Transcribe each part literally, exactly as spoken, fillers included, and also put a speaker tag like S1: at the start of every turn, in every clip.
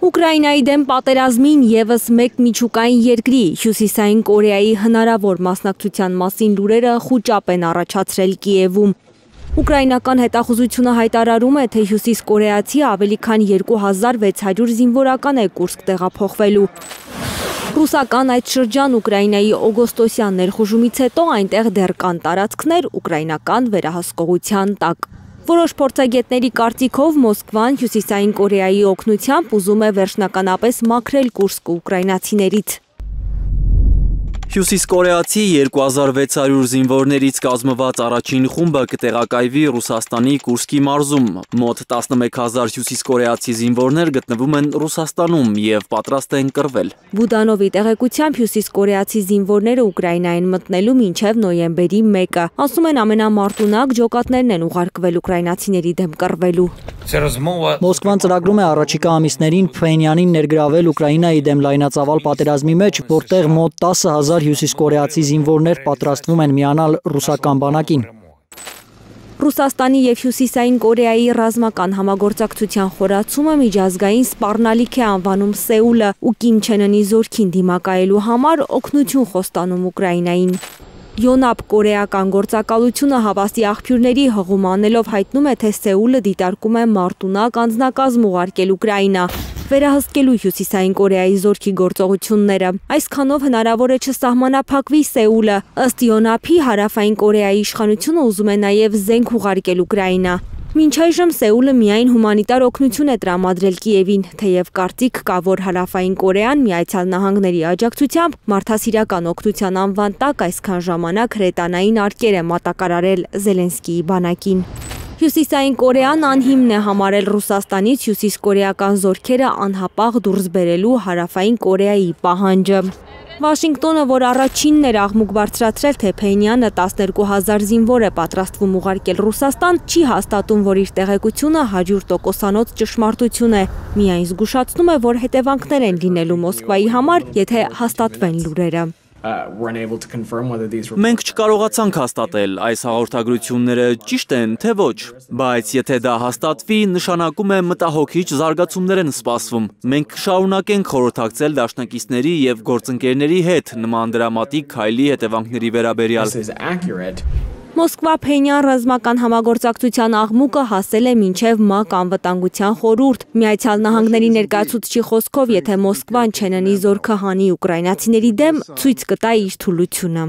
S1: Ուկրաինայի դեմ պատերազմին ևս մեկ միջուկային երկրի Հյուսիսային Կորեայի հնարավոր մասնակցության մասին լուրերը խուճապ են առաջացրել Կիևում։ Ուկրաինական հետախուզությունը հայտարարում է, թե հյուսիս կորեացի ավելի քան երկու հազար վեց հարյուր զինվորական է Կուրսկ տեղափոխվելու։ Ռուսական այդ շրջան Ուկրաինայի օգոստոսյան ներխուժումից հետո այնտեղ դեռ կան տարածքներ ուկրաինական վերահսկողության տակ։ Որոշ փորձագետների կարծիքով Մոսկվան Հյուսիսային Կորեայի օգնությամբ ուզում է վերջնականապես մաքրել Կուրսկը ուկրաինացիներից։
S2: Հյուսիս կորեացի երկու հազար վեց հարյուր զինվորներից կազմված առաջին խումբը կտեղակայվի Ռուսաստանի Կուրսկի մարզում։ Մոտ տասնմեկ հազար հյուսիս կորեացի զինվորներ գտնվում են Ռուսաստանում եւ պատրաստ են կռվել։
S1: Բուդանովի տեղեկությամբ հյուսիս կորեացի զինվորները Ուկրաինա են մտնելու մինչև նոյեմբերի մեկը։ Ասում են ամենամարտունակ ջոկատներն են ուղարկվել ուկրաինացիների դեմ կռվելու։
S3: Մոսկվան ծրագրում է առաջիկա ամիսներին Փխենյանին ներգրավել Ուկրաինայի դեմ լայնածավալ պատերազմի մեջ, որտեղ մոտ տասը հազար հյուսիս կորեացի զինվորներ պատրաստվում են միանալ ռուսական բանակին։
S1: Ռուսաստանի և Հյուսիսային Կորեայի ռազմական համագործակցության խորացումը միջազգային սպառնալիք է անվանում Սեուլը ու Կիմ Չեն Ընի զորքին դիմակայելու համար օգնություն խոստանում Ուկրաինային։ Յոնապ կորեական գործակալությունը հավաստի աղբյուրների հղում անելով հայտնում է, թե Սեուլը դիտարկում է մարտունակ անձնակազմ ուղարկել Ուկրաինա, վերահսկելու Հյուսիսային Կորեայի զորքի գործողությունները։ Այսքանով հնարավոր է չսահմանափակվի Սեուլը։ Ըստ Յոնապի, Հարավային Կորեայի իշխանությունը ուզում է նաև զենք ուղարկել Ուկրաինա։ Մինչ այժմ Սեուլը միայն հումանիտար օգնություն է տրամադրել Կիևին, թեև կարծիք կա, որ Հարավային Կորեան Միացյալ Նահանգների աջակցությամբ մարդասիրական օգնության անվան տակ այսքան ժամանակ հրետանային արկեր է մատակարարել Զելենսկիի բանակին։ Հյուսիսային Կորեան անհիմն է համարել Ռուսաստանից հյուսիսկորեական զորքերը անհապաղ դուրս բերելու Հարավային Կորեայի պահանջը։ Վաշինգտոնը, որ առաջինն էր աղմուկ բարձրացրել, թե Փենյանը տասներկու հազար զինվոր է պատրաստվում ուղարկել Ռուսաստան, չի հաստատում, որ իր տեղեկությունը հարյուր տոկոսանոց ճշմարտություն է, միայն զգուշացնում է, որ հետևանքներ են լինելու Մոսկվայի համար, եթե հաստատվեն լուրերը։
S2: Մենք չկարողացանք հաստատել այս հաղորդագրությունները ճիշտ են, թե ոչ, բայց եթե դա հաստատվի, նշանակում է մտահոգիչ զարգացումներ են սպասվում։ Մենք կշարունակենք խորհրդակցել դաշնակիցների եւ գործընկերների հետ նման դրամատիկ քայլի հետևանքների վերաբերյալ։
S1: Մոսկվա-Փենյան ռազմական համագործակցության աղմուկը հասել է մինչև ՄԱԿ անվտանգության խորհուրդ։ Միացյալ Նահանգների ներկայացուցչի խոսքով, եթե Մոսկվան Չեն Ընի զորքը հանի ուկրաինացիների դեմ, ցույց կտա իր թուլությունը։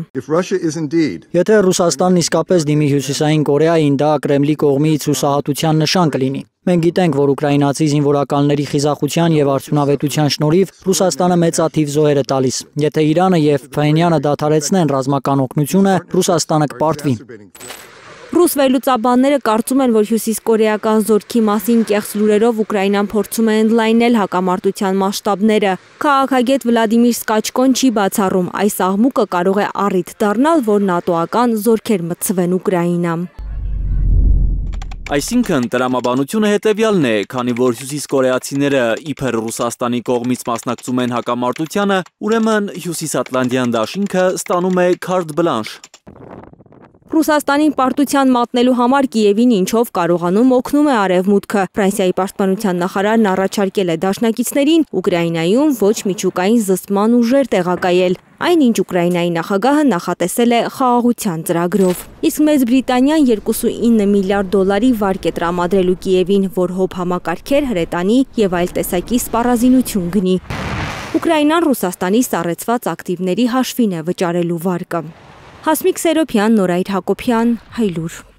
S3: Եթե Ռուսաստանն իսկապես դիմի Հյուսիսային Կորեային, դա Կրեմլի կողմից հուսահատության նշան կլինի։ Մենք գիտենք, որ ուկրաինացի զինվորականների խիզախության եւ արդյունավետության շնորհիվ Ռուսաստանը մեծաթիվ զոհեր է տալիս։ Եթե Իրանը եւ Փենյանը դադարեցնեն ռազմական օգնությունը, Ռուսաստանը կպարտվի։
S1: Ռուս վերլուծաբանները կարծում են, որ հյուսիսկորեական զորքի մասին կեղծ լուրերով Ուկրաինան փորձում է ընդլայնել հակամարտության մասշտաբները։ Քաղաքագետ Վլադիմիր Սկաչկոն չի բացառում, այս աղմուկը կարող է առիթ դառնալ, որ նատոական զորքեր մտցվեն Ուկրաինա։
S2: Այսինքն տրամաբանությունը հետևյալն է, քանի որ հյուսիս կորեացիները իբր Ռուսաստանի կողմից մասնակցում են հակամարտությանը, ուրեմն հյուսիսատլանտյան դաշինքը ստանում է քարտ բլանշ։
S1: Ռուսաստանին պարտության մատնելու համար Կիևին ինչով կարողանում օգնում է Արևմուտքը։ Ֆրանսիայի պաշտպանության նախարարն առաջարկել է դաշնակիցներին Ուկրաինայում ոչ միջուկային զսպման ուժեր տեղակայել, այնինչ Ուկրաինայի նախագահը նախատեսել է խաղաղության ծրագրով։ Իսկ Մեծ Բրիտանիան երկուսունինը միլիարդ դոլարի վարկ է տրամադրելու Կիևին, որ հոբ համակարգեր, հրետանի եւ այլ տեսակի սպառազինություն գնի։ Ուկրաինան Ռուսաստանի սառեցված ակտիվների հաշվին է վճարելու վարկը։ Հասմիկ Սերոփյան, Նորայր Հակոբյան, Հայլուր։